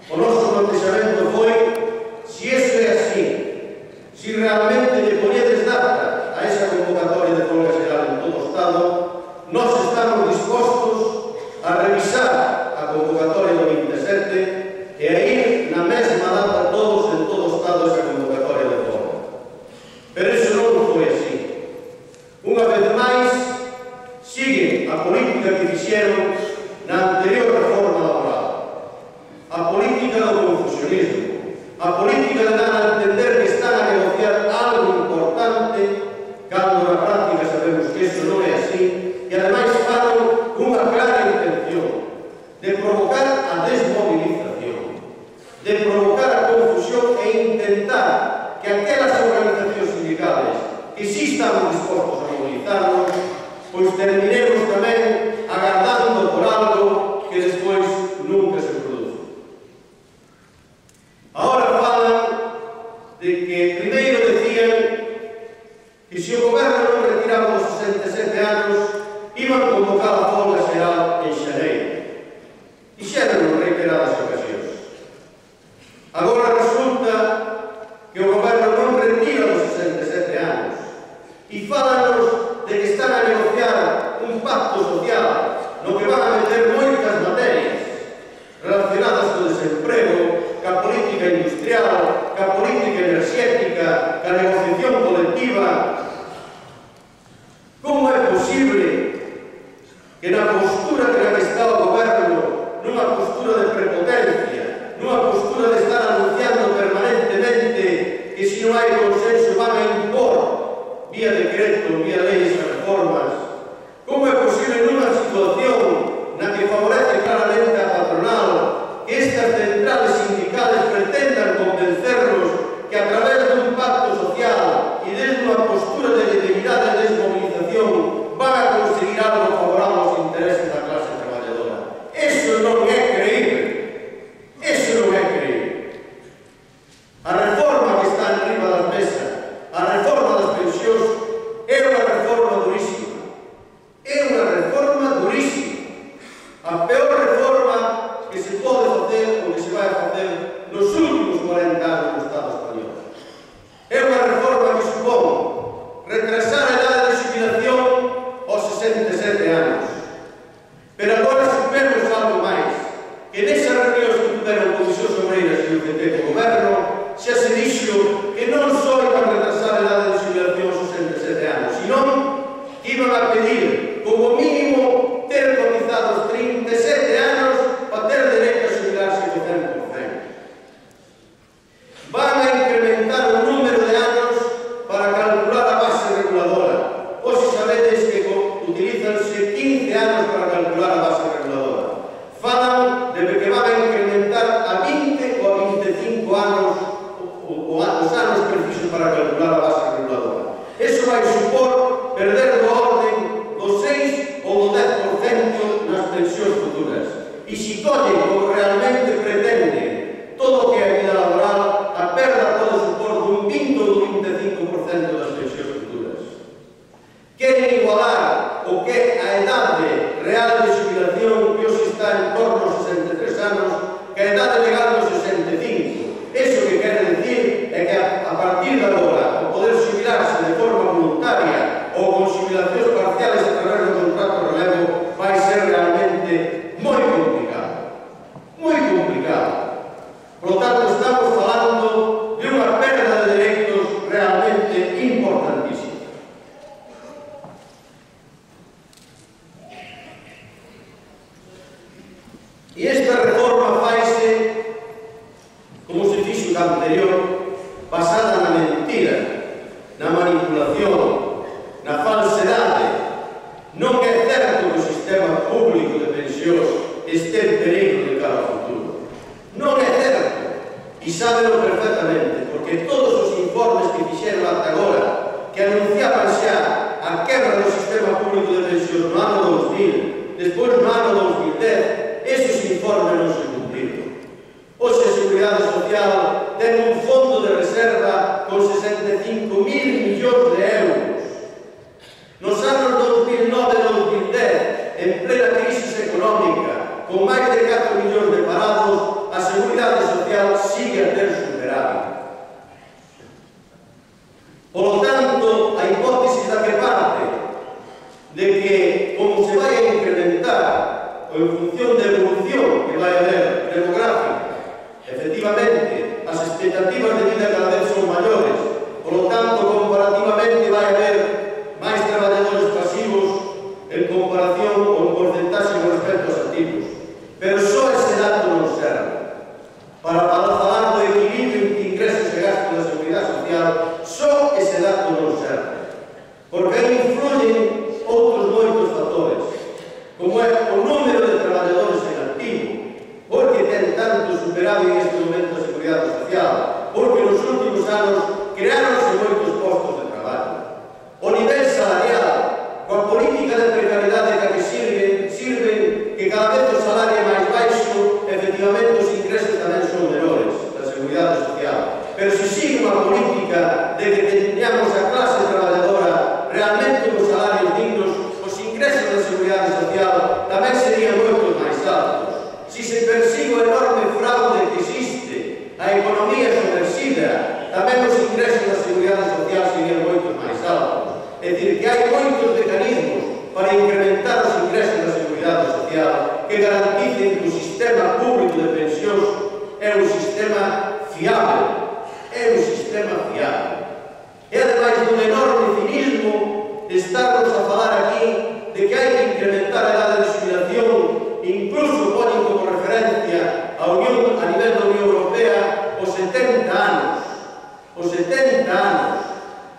O noso plantexamento foi se iso é así, se realmente lle poñedes data a esa convocatoria de folga xeral en todo o Estado, nós estamos dispostos a revisar a convocatoria do 27 e a ir na mesma data todos en todo o Estado esa convocatoria de folga. Pero iso non foi así. Unha vez máis, siguen a política que fixeron na anterior reforma laboral, a política do confusionismo, a política de dar a entender que están a negociar algo importante cando na práctica sabemos que iso non é así e ademais faron unha clara intención de provocar a desmovilización, de provocar a confusión e intentar que aquelas organizacións sindicales que sí estamos dispostos a movilizarnos, pois terminemos tamén agardando por algo que despois nunca se produce. Agora falan de que primeiro decían que se o goberno non retiraba os 67 anos iban convocar a folga xeral en xaneiro. Dixeron en reiteradas ocasións. Agora resulta que o goberno non retira os 67 anos e fálanos de que están a negociar un pacto social no que van a meter moitas materias relacionadas co desemprego, ca política industrial, ca política enerxética, ca negociación colectiva. Como é posible que na postura que na que está o goberno, nunha postura de prepotencia, nunha postura de estar anunciando permanentemente que se non hai consenso van a impor vía decreto, vía leis e reformas, como é posible nunha situación na que favorece claramente a patronal que estas centrales sindicales pretendan convencernos que a través dun pacto social e desde unha postura de legitimidade e desmovilización van a conseguir algo favorable aos intereses da clase traballadora? Eso non é creíble. Eso non é creíble. A reforma que está enriba das mesas, a reforma das pensións, é unha reforma durísima. É unha reforma durísima. A peor reforma que se pode facer ou que se vai facer nos últimos 40 anos no Estado español. É unha reforma que supón retrasar a idade de xubilación aos 67 anos. Pero agora supemos algo máis, que nesas reunións que tuveron Comisións Obreiras e o PP co goberno, xa se dixo que non só iban a retrasar a idade de xubilación aos 67 anos, sino que iban a pedir, como mínimo, ter cotizado os 37 anos para ter dereito a xubilarse co 100%. Van a incrementar o número de anos para calcular a base reguladora. Hoxe sabedes que utilizanse 15 anos para calcular a base reguladora. Falan de que van a incrementar a 20 ou a 25 anos os anos precisos para calcular a base reguladora. Eso vai supor perder do orden do 6 ou do 10% nas pensións futuras. E se collen como realmente pretenden todo o que é a vida laboral, a perda pode supor dun 20 ou dun 25% das pensións futuras. Queren igualar o que é a idade real de xubilación que hoxe está en torno aos 63 anos que a idade legal dos 65. Eso que quere decir é que a partir de agora o poder xubilarse de forma voluntaria ou con xubilacións parciales a través do contrato de relevo vai ser realmente moi complicado. Moi complicado. Por lo tanto, estamos falando de unha perda de dereitos realmente importantísima. E esta reforma faise, como se fixo da anterior, basada na mentira, na manipulación, na falsedade. Non é certo que o sistema público de pensións este en perigo de cara ao futuro. Non é certo. E sábelo perfectamente, porque todos os informes que fixeron ata agora, que anunciaban xa a quebra do sistema público de pensións no ano 2000, despois no ano 2010, esos informes non se cumpriron. Hoxe a Seguridade Social ten un fondo de reserva con 65.000 millóns de euros. Nos anos 2009 e 2010, en plena crisis económica, con máis de 4 millóns de parados, a Seguridade expectativas de vida cada vez son maiores, polo tanto, comparativamente vai haber máis traballadores pasivos en comparación ou en porcentaxe con respecto aos activos. Pero só ese dato non serve. Para falar do equilibrio entre ingresos e gastos da Seguridade Social, só ese dato non serve. Porque aí influyen outros moitos factores, como é o número de traballadores en activo, porque ten tanto superado en este momento a Seguridade Social, porque nos últimos anos creáronse moitos postos de traballo. O nivel salarial, coa política de precariedade que sirven que cada vez o salario é máis baixo, efectivamente os ingresos tamén son menores da Seguridade Social. Pero se sigue unha política de que teñamos a clase traballadora realmente con salarios dignos, os ingresos da Seguridade Social tamén serían moito máis altos. Se se persigue o enorme fraude que existe, a economía subversida, tamén os ingresos da Seguridade Social serían moito máis altos. É dicir, que hai moitos mecanismos para incrementar os ingresos da Seguridade Social que garanticen que o sistema público de pensións é un sistema fiable. É un sistema fiable. E ademais dun enorme cinismo de estarnos a falar aquí de que hai que incrementar a edade de xubilación, incluso poñen como referencia a nivel da Unión Europea os 70 anos. Os 70 anos.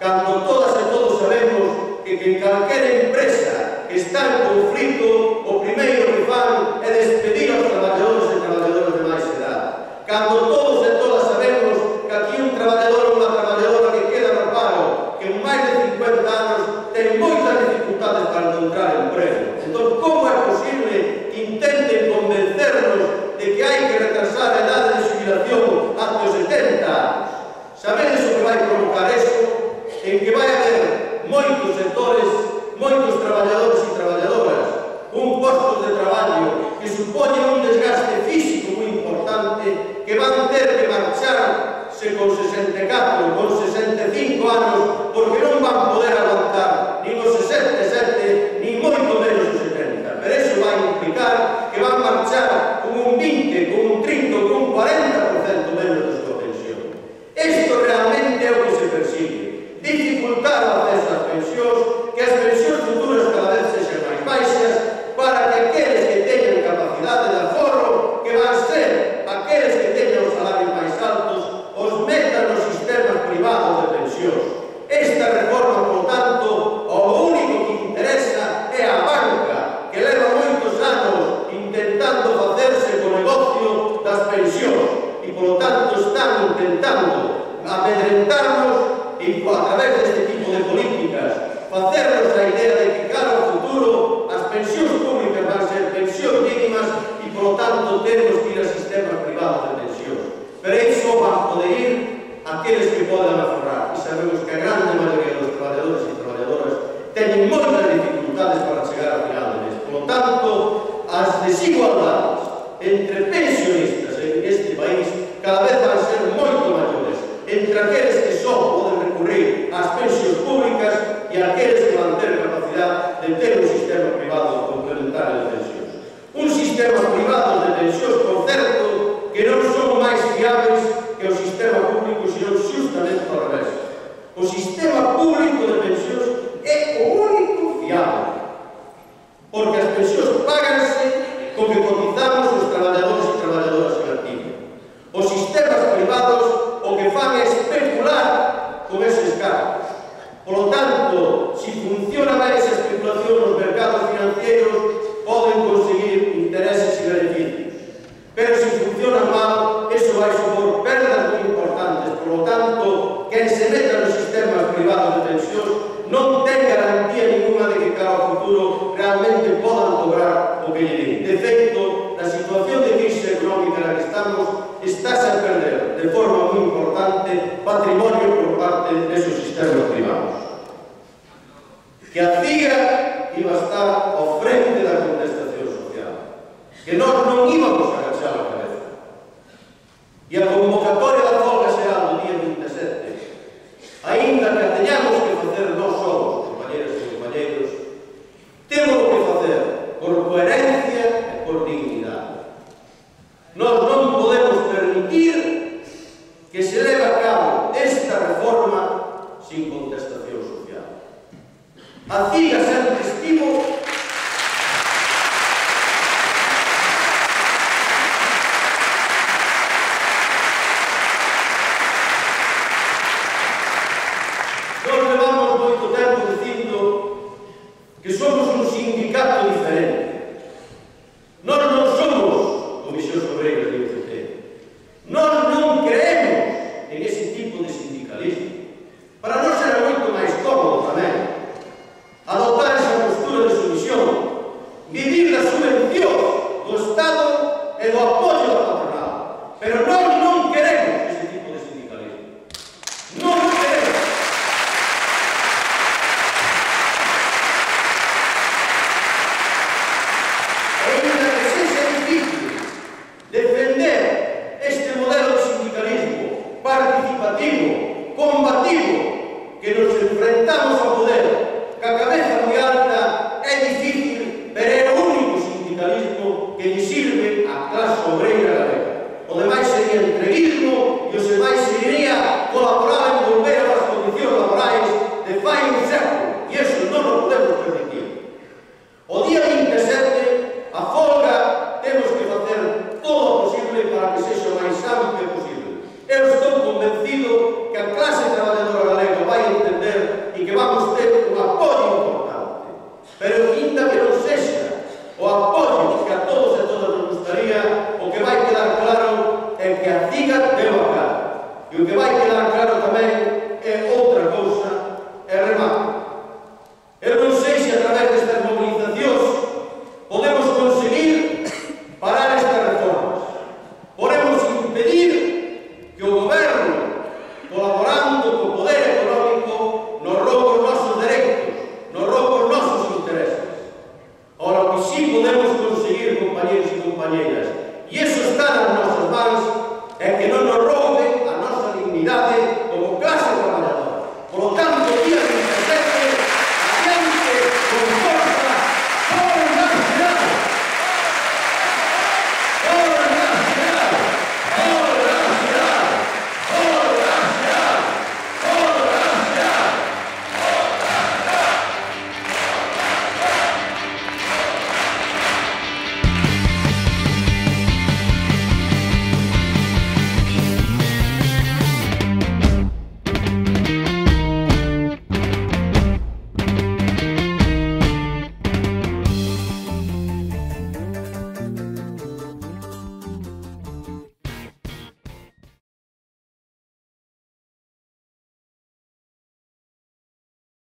Cando todas e todos sabemos que en calquera empresa que está en conflito, o primeiro que fan é despedir aos traballadores e traballadoras de máis edade. Cando todos e todas sabemos que aquí un traballador ou unha traballadora que queda no paro, que en máis de 50 anos ten moitas dificultades para encontrar emprego. Entón, como é posible que intenten convencernos de que hai que retrasar a edade de xubilación ata os 70 anos? Sabedes o que vai provocar eso? En que vai haber moitos sectores, moitos traballadores e traballadoras con postos de traballo que supoñen un desgaste físico moi importante, que van ter que marcharse con 64, con 65 anos, porque non van poder aguantar nin os 67, nin moito menos os 70. Pero iso vai implicar que van marchar con un 20, con un 30, con un 40% menos da súa pensión. Isto realmente é o que se persigue. Dificultar o acceso ás pensións, que as pensións futuras cada vez sexan máis baixas, para que aqueles que teñan capacidade de aforro, que van ser aqueles que teñan os salarios máis altos, os metan nos sistemas privados de pensións. Esta reforma, por tanto, o único que interesa é a banca, que leva moitos anos intentando facerse co negocio das pensións e, por tanto, están intentando amedrentarnos e, a través deste tipo de políticas, facernos a idea de que, cara ao futuro, as pensións públicas van ser pensións mínimas e, por tanto, temos que ir a sistemas privados de pensións. Pero iso van poder ir aqueles que poden aforrar. E sabemos que a grande maioría dos traballadores e traballadoras teñen moitas dificultades para chegar ao final de mes. Por tanto, as desigualdades entre pensionistas en este país cada vez van ser moito maiores entre aqueles que só poden recurrir ás pensións públicas e aqueles que van ter capacidade de ter un sistema privado complementario de pensións. Un sistema privado de pensións, por certo, que non son máis fiables que o sistema público, senón xustamente ao revés. O sistema público de pensións é o único fiable, porque as pensións páganse co que cotizamos os traballadores e traballadoras en activo. Os sistemas privados o que fan é especular con eses cargos. Por lo tanto, se funciona ben esa especulación nos mercados financieros, poden conseguir intereses e beneficios. Pero se funciona mal, eso vai supor perdas moi importantes. Por lo tanto, quen se meta nos sistemas privados de pensións non ten garantía ninguna de que cara ao futuro realmente podan cobrar o que lle din. De feito, na situación de crise económica na que estamos, estáse a perder de forma moi importante patrimonio por parte desos sistemas privados. Que a CIGA iba a estar ao frente da contestación social, que nós non íbamos a agachar a cabeza. E a convocatoria da folga será do día 27, aínda que a teñamos que facer nós somos, compañeros e compañeros, temos que facer por coherencia e por dignidade. Nós non podemos permitir que se digo que nos enfrentamos ao poder ca cabeza moi alta, é difícil, pero é o único sindicalismo que lle sirve á clase obreira galega. O demais sería entreguismo e os demais sería colaborar en volver ás condicións laborais de fai un século, e iso non o podemos permitir. O día 27, a folga, temos que facer todo o posible para que sexa o máis amplo posible. Eu estou convencido que a clase traballadora galega vai entender e que vamos ter un apoio importante. Pero ainda que non sexa o apoio que a todos e todas nos gustaría, o que vai quedar claro é que a CIGA deu a cara. E o que vai quedar claro tamén é o